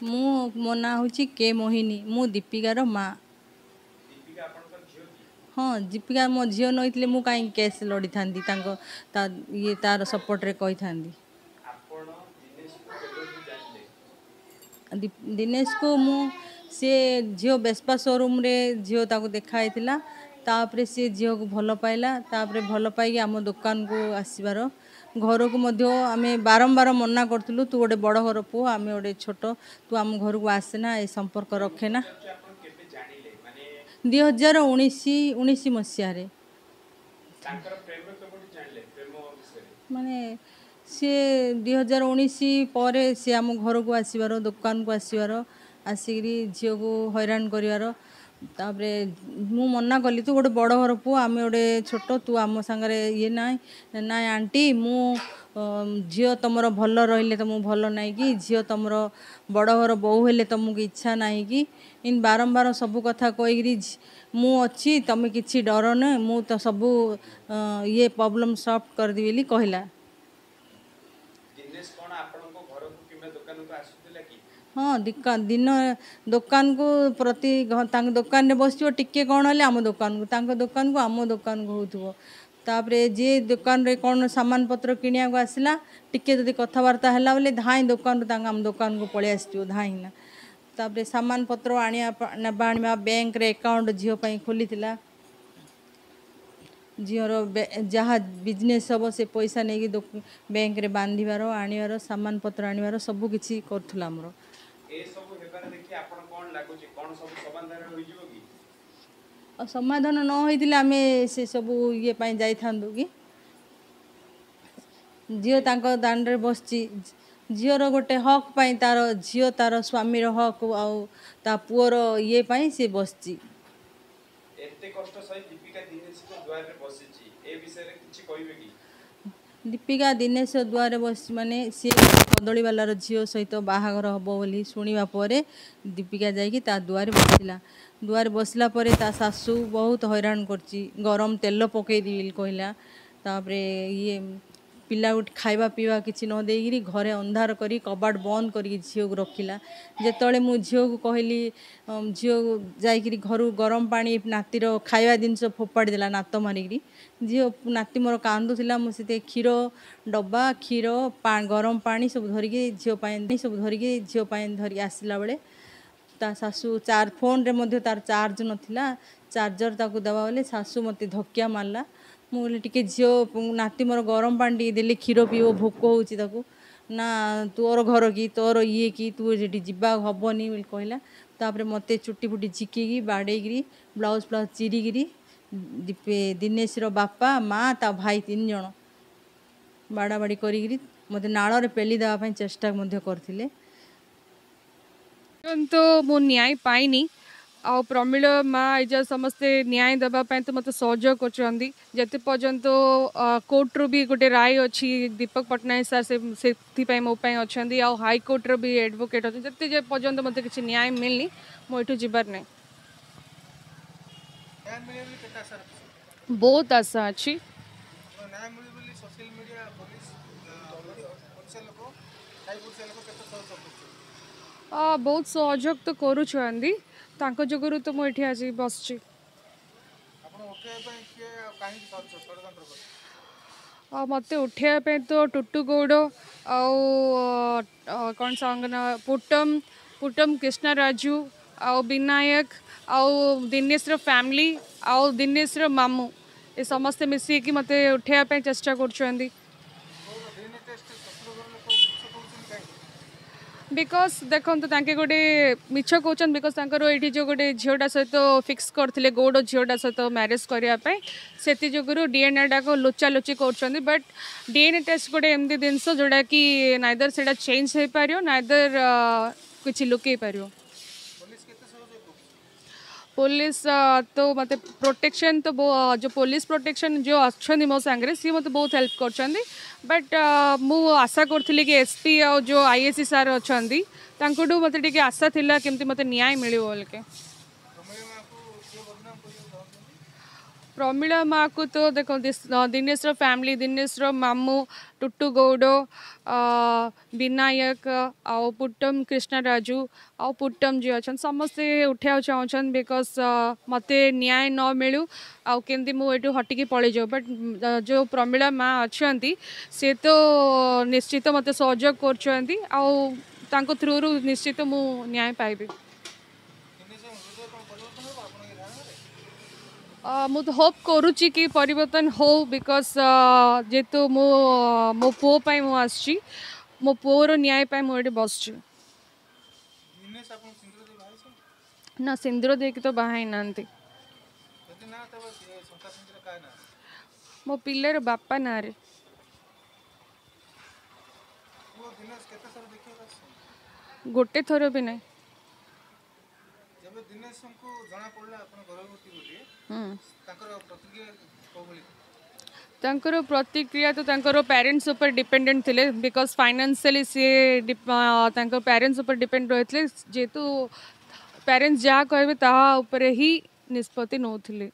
ମୁଁ ମୋ ନାଁ ହେଉଛି କେ ମୋହିନୀ, ମୁଁ ଦୀପିକାର ମା। ହଁ, ଦୀପିକା ମୋ ଝିଅ ନହେଇଥିଲେ ମୁଁ କାହିଁକି କେସ୍ ଲଢ଼ିଥାନ୍ତି, ତାଙ୍କ ତା ଇଏ ତାର ସପୋର୍ଟରେ କହିଥାନ୍ତି। ଦିନେଶକୁ ମୁଁ ସିଏ ଝିଅ ବେସ୍ପା ସୋରୁମ୍ରେ ଝିଅ ତାକୁ ଦେଖା ହେଇଥିଲା। ତାପରେ ସିଏ ଝିଅକୁ ଭଲ ପାଇଲା। ତାପରେ ଭଲ ପାଇକି ଆମ ଦୋକାନକୁ ଆସିବାର, ଘରକୁ ମଧ୍ୟ ଆମେ ବାରମ୍ବାର ମନା କରୁଥିଲୁ, ତୁ ଗୋଟେ ବଡ଼ ଘର ପୁଅ, ଆମେ ଗୋଟେ ଛୋଟ, ତୁ ଆମ ଘରକୁ ଆସେନା, ଏ ସମ୍ପର୍କ ରଖେନା। 2019 ମସିହାରେ ମାନେ ସିଏ 2019 ପରେ ସିଏ ଆମ ଘରକୁ ଆସିବାର, ଦୋକାନକୁ ଆସିବାର, ଆସିକିରି ଝିଅକୁ ହଇରାଣ କରିବାର। ତାପରେ ମୁଁ ମନା କଲି, ତୁ ଗୋଟେ ବଡ଼ ଘର ପୁଅ, ଆମେ ଗୋଟେ ଛୋଟ, ତୁ ଆମ ସାଙ୍ଗରେ ଇଏ ନାହିଁ। ନାଇଁ ଆଣ୍ଟି, ମୁଁ ଝିଅ ତୁମର ଭଲ ରହିଲେ ତୁମକୁ ଭଲ ନାହିଁ କି? ଝିଅ ତୁମର ବଡ଼ ଘର ବୋହୂ ହେଲେ ତୁମକୁ ଇଚ୍ଛା ନାହିଁ କି? ଏମିତି ବାରମ୍ବାର ସବୁ କଥା କହିକିରି, ମୁଁ ଅଛି, ତୁମେ କିଛି ଡରନି, ମୁଁ ତ ସବୁ ଇଏ ପ୍ରୋବ୍ଲେମ୍ ସଲ୍ଭ କରିଦେବି ବୋଲି କହିଲା। ହଁ, ଦିନ ଦୋକାନକୁ ପ୍ରତି ତାଙ୍କ ଦୋକାନରେ ବସିଥିବ, ଟିକେ କ'ଣ ହେଲେ ଆମ ଦୋକାନକୁ, ତାଙ୍କ ଦୋକାନକୁ, ଆମ ଦୋକାନକୁ ହେଉଥିବ। ତାପରେ ଯିଏ ଦୋକାନରେ କ'ଣ ସାମାନ ପତ୍ର କିଣିବାକୁ ଆସିଲା, ଟିକେ ଯଦି କଥାବାର୍ତ୍ତା ହେଲା ବୋଲି ଧାଇଁ ଦୋକାନରୁ ତାଙ୍କ ଆମ ଦୋକାନକୁ ପଳେଇ ଆସିଥିବ ଧାଇଁକିନା। ତାପରେ ସାମାନ ପତ୍ର ଆଣିବା, ନେବା ଆଣିବା, ବ୍ୟାଙ୍କରେ ଆକାଉଣ୍ଟ ଝିଅ ପାଇଁ ଖୋଲିଥିଲା। ଝିଅର ଯାହା ବିଜନେସ୍ ହେବ ସେ ପଇସା ନେଇକି ବ୍ୟାଙ୍କରେ ବାନ୍ଧିବାର, ଆଣିବାର, ସାମାନ ପତ୍ର ଆଣିବାର ସବୁ କିଛି କରୁଥିଲା ଆମର। ଆଉ ସମାଧାନ ନ ହେଇଥିଲେ ଆମେ ସେସବୁ ଇଏ ପାଇଁ ଯାଇଥାନ୍ତୁ କି? ଝିଅ ତାଙ୍କ ଦାଣ୍ଡରେ ବସିଛି, ଝିଅର ଗୋଟେ ହକ୍ ପାଇଁ, ତାର ଝିଅ ତାର ସ୍ୱାମୀର ହକ୍ ଆଉ ତା ପୁଅର ଇଏ ପାଇଁ ସେ ବସିଛି। ଏତେ କଷ୍ଟ ସହି ଦୀପିକା ଦିନେଶଙ୍କ ଦୁଆରେ ବସିଛି, ଏ ବିଷୟରେ କିଛି କହିବେ କି? ଦୀପିକା ଦିନେଶ ଦୁଆରେ ବସିଛି ମାନେ ସିଏ କଦଳୀବାଲାର ଝିଅ ସହିତ ବାହାଘର ହେବ ବୋଲି ଶୁଣିବା ପରେ ଦୀପିକା ଯାଇକି ତା ଦୁଆରେ ବସିଲା। ଦୁଆରେ ବସିଲା ପରେ ତା ଶାଶୁ ବହୁତ ହଇରାଣ କରିଛି, ଗରମ ତେଲ ପକେଇଦେବି ବୋଲି କହିଲା। ତାପରେ ଇଏ ପିଲା ଗୋଟେ ଖାଇବା ପିଇବା କିଛି ନ ଦେଇକିରି ଘରେ ଅନ୍ଧାର କରି କବାଟ ବନ୍ଦ କରିକି ଝିଅକୁ ରଖିଲା। ଯେତେବେଳେ ମୁଁ ଝିଅକୁ କହିଲି, ଝିଅ ଯାଇକିରି ଘରୁ ଗରମ ପାଣି ନାତିର ଖାଇବା ଜିନିଷ ଫୋପାଡ଼ି ଦେଲା ନାତ ମାରିକିରି। ଝିଅ ନାତି ମୋର କାନ୍ଦୁଥିଲା, ମୁଁ ସେଥିରେ କ୍ଷୀର ଡବା, କ୍ଷୀର, ଗରମ ପାଣି ସବୁ ଧରିକି ଝିଅ ପାଇଁ, ସବୁ ଧରିକି ଝିଅ ପାଇଁ ଧରିକି ଆସିଲା ବେଳେ ତା ଶାଶୁ ଫୋନ୍ରେ ମଧ୍ୟ ତାର ଚାର୍ଜ ନଥିଲା, ଚାର୍ଜର ତାକୁ ଦେବା ବୋଲେ ଶାଶୁ ମୋତେ ଧକିଆ ମାରିଲା। ମୁଁ କହିଲି ଟିକେ ଝିଅ ନାତି ମୋର ଗରମ ପାଣି ଟିକେ ଦେଲେ କ୍ଷୀର ପିଇବ, ଭୋକ ହେଉଛି ତାକୁ। ନା ତୋର ଘର କି, ତୋର ଇଏ କି, ତୁ ସେଠି ଯିବା ହେବନି ବୋଲି କହିଲା। ତାପରେ ମୋତେ ଚୁଟି ଫୁଟି ଝିକିକି ବାଡ଼େଇକିରି ବ୍ଲାଉଜ୍ ଫ୍ଲାଉଜ୍ ଚିରିକିରି ଦିନେଶର ବାପା, ମା, ତା ଭାଇ 3 ଜଣ ବାଡ଼ାବାଡ଼ି କରିକିରି ମୋତେ ନାଳରେ ପେଲି ଦେବା ପାଇଁ ଚେଷ୍ଟା ମଧ୍ୟ କରିଥିଲେ। କିନ୍ତୁ ମୁଁ ନ୍ୟାୟ ପାଇନି। ଆଉ ପ୍ରମିଳ ମା ଏ ଯା ସମସ୍ତେ ନ୍ୟାୟ ଦେବା ପାଇଁ ତ ମୋତେ ସହଯୋଗ କରୁଛନ୍ତି। ଯେତେ ପର୍ଯ୍ୟନ୍ତ କୋର୍ଟରୁ ବି ଗୋଟେ ରାୟ ଅଛି, ଦୀପକ ପଟ୍ଟନାୟକ ସାର୍ ସେଥିପାଇଁ ମୋ ପାଇଁ ଅଛନ୍ତି, ଆଉ ହାଇକୋର୍ଟର ବି ଆଡ଼ଭୋକେଟ୍ ଅଛନ୍ତି। ଯେତେ ଯେ ପର୍ଯ୍ୟନ୍ତ ମୋତେ କିଛି ନ୍ୟାୟ ମିଳିନି, ମୁଁ ଏଠୁ ଯିବାର ନାହିଁ। ବହୁତ ଆଶା ଅଛି। ବହୁତ ସହଯୋଗ ତ କରୁଛନ୍ତି, ତାଙ୍କ ଯୋଗୁରୁ ତ ମୁଁ ଏଠି ଆଜି ବସିଛି। ମୋତେ ଉଠେଇବା ପାଇଁ ତ ଟୁଟୁ ଗୌଡ଼ ଆଉ କ'ଣ ସାଙ୍ଗ ନା ପୁଟମ, କୃଷ୍ଣ ରାଜୁ ଆଉ ବିନାୟକ ଆଉ ଦିନେଶର ଫ୍ୟାମିଲି ଆଉ ଦିନେଶର ମାମୁଁ, ଏ ସମସ୍ତେ ମିଶିକି ମୋତେ ଉଠେଇବା ପାଇଁ ଚେଷ୍ଟା କରୁଛନ୍ତି। Because ଦେଖନ୍ତୁ, ତାଙ୍କେ ଗୋଟେ ମିଛ କହୁଛନ୍ତି, because ତାଙ୍କର ଏଇଠି ଯେଉଁ ଗୋଟେ ଝିଅଟା ସହିତ ଫିକ୍ସ କରିଥିଲେ, ଗୌଡ଼ ଝିଅଟା ସହିତ ମ୍ୟାରେଜ୍ କରିବା ପାଇଁ, ସେଥି ଯୋଗୁରୁ ଡିଏନ୍ଏଟାକୁ ଲୁଚାଲୁଚି କରୁଛନ୍ତି। ବଟ୍ ଡିଏନ୍ଏ ଟେଷ୍ଟ ଗୋଟେ ଏମିତି ଜିନିଷ ଯେଉଁଟାକି ନାଇଦର ସେଇଟା ଚେଞ୍ଜ ହେଇପାରିବ, ନାଇଦର କିଛି ଲୁକେଇ ପାରିବ। ପୋଲିସ ତ ମୋତେ ପ୍ରୋଟେକ୍ସନ୍ ତ ଯେଉଁ ପୋଲିସ ପ୍ରୋଟେକ୍ସନ୍ ଯେଉଁ ଅଛନ୍ତି ମୋ ସାଙ୍ଗରେ, ସିଏ ମୋତେ ବହୁତ ହେଲ୍ପ କରୁଛନ୍ତି। ବଟ୍ ମୁଁ ଆଶା କରୁଥିଲି କି ଏସ୍ ପି ଆଉ ଯେଉଁ I S C sir ଅଛନ୍ତି, ତାଙ୍କଠୁ ମୋତେ ଟିକେ ଆଶା ଥିଲା କେମିତି ମୋତେ ନ୍ୟାୟ ମିଳିବ ବୋଲିକି। ପ୍ରମିଳା ମାଆକୁ ତ ଦେଖନ୍ତୁ, ଦିନେଶର ଫ୍ୟାମିଲି, ଦିନେଶର ମାମୁଁ ଟୁଟୁ ଗୌଡ଼, ବିନାୟକ ଆଉ ପୁଟ୍ଟମ କୃଷ୍ଣରାଜୁ ଆଉ ପୁଟ୍ଟମ ଯିଏ ଅଛନ୍ତି, ସମସ୍ତେ ଉଠେଇବାକୁ ଚାହୁଁଛନ୍ତି, because ମୋତେ ନ୍ୟାୟ ନ ମିଳୁ ଆଉ କେମିତି ମୁଁ ଏଇଠୁ ହଟିକି ପଳେଇଯାଉ। ବଟ୍ ଯେଉଁ ପ୍ରମିଳା ମା ଅଛନ୍ତି, ସେ ତ ନିଶ୍ଚିତ ମୋତେ ସହଯୋଗ କରୁଛନ୍ତି ଆଉ ତାଙ୍କ ଥ୍ରୁରୁ ନିଶ୍ଚିତ ମୁଁ ନ୍ୟାୟ ପାଇବି। ମୁଁ ତ ହୋପ୍ କରୁଛି କି ପରିବର୍ତ୍ତନ ହଉ, because ଯେହେତୁ ମୁଁ ମୋ ପୁଅ ପାଇଁ ମୁଁ ଆସିଛି, ମୋ ପୁଅର ନ୍ୟାୟ ପାଇଁ ମୁଁ ଏଠି ବସିଛି। ନା, ସିନ୍ଦୁର ଦେଇକି ତ ବାହା ହେଇନାହାନ୍ତି। ମୋ ପିଲାର ବାପା ନାଁରେ। ଗୋଟେ ଥର ବି ନାହିଁ। ତାଙ୍କର ପ୍ରତିକ୍ରିୟା ତ ତାଙ୍କର ପ୍ୟାରେଣ୍ଟସ୍ ଉପରେ ଡିପେଣ୍ଡେଣ୍ଟ ଥିଲେ, because financially ସିଏ ତାଙ୍କ ପ୍ୟାରେଣ୍ଟସ୍ ଉପରେ ଡିପେଣ୍ଡ ରହିଥିଲେ। ଯେହେତୁ ପ୍ୟାରେଣ୍ଟସ୍ ଯାହା କହିବେ ତାହା ଉପରେ ହିଁ ନିଷ୍ପତ୍ତି ନେଉଥିଲେ।